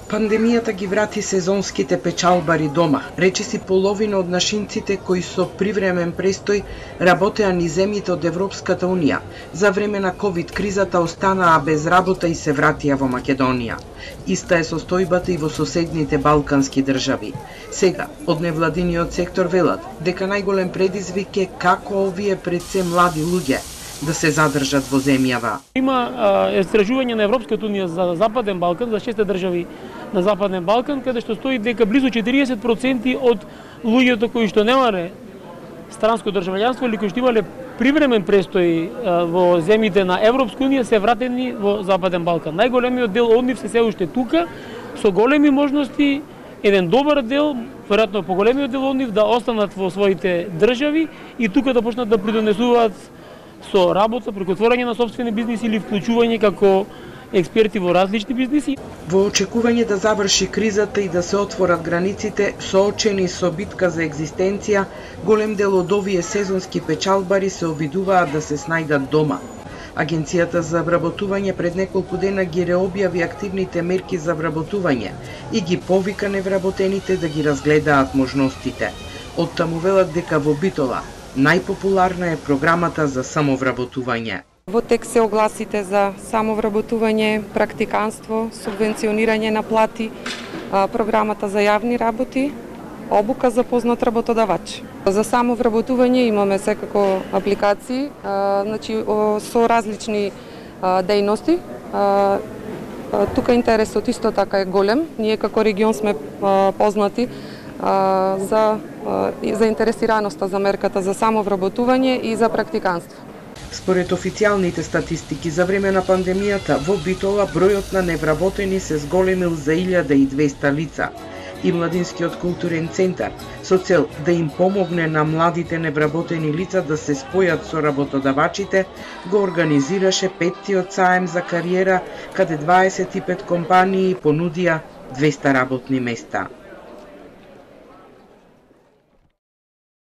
Пандемијата ги врати сезонските печалбари дома. Речиси половина од нашинците кои со привремен престој работеа низ земјите од Европската Унија, за време на ковид кризата останаа без работа и се вратија во Македонија. Иста е состојбата и во соседните балкански држави. Сега, од невладиниот сектор велат дека најголем предизвик е како овие пред се млади луѓе да се задржат во земјава. Има истражување на Европската Унија за Западен Балкан, за 6 држави на Западен Балкан, каде што стои дека близу 40% од луѓето кои што немале странско државјанство или кои што имале привремен престој во земјите на Европска Унија се вратени во Западен Балкан. Најголемиот дел од нив се уште тука, со големи можности, еден добар дел, веројатно поголемиот дел од нив да останат во своите држави и тука да почнат да придонесуваат со работа, преку отворање на сопствени бизниси или вклучување како експерти во различни бизниси. Во очекување да заврши кризата и да се отворат границите, соочени со битка за екзистенција, голем дел од овие сезонски печалбари се обидуваат да се снајдат дома. Агенцијата за вработување пред неколку дена ги реобјави активните мерки за вработување и ги повика невработените да ги разгледаат можностите. Оттаму велат дека во Битола најпопуларна е програмата за самовработување. Во текст се огласите за самовработување, практиканство, субвенционирање на плати, програмата за јавни работи, обука за познат работодавач. За самовработување имаме секако апликации, значи со различни дејности. Тука интересот исто така е голем. Ние како регион сме познати за заинтересираноста за мерката за самовработување и за практиканство. Според официјалните статистики за време на пандемијата во Битола бројот на невработени се зголемил за 1200 лица и Младинскиот културен центар со цел да им помогне на младите невработени лица да се спојат со работодавачите го организираше 5-тиот саем за кариера каде 25 компании понудија 200 работни места.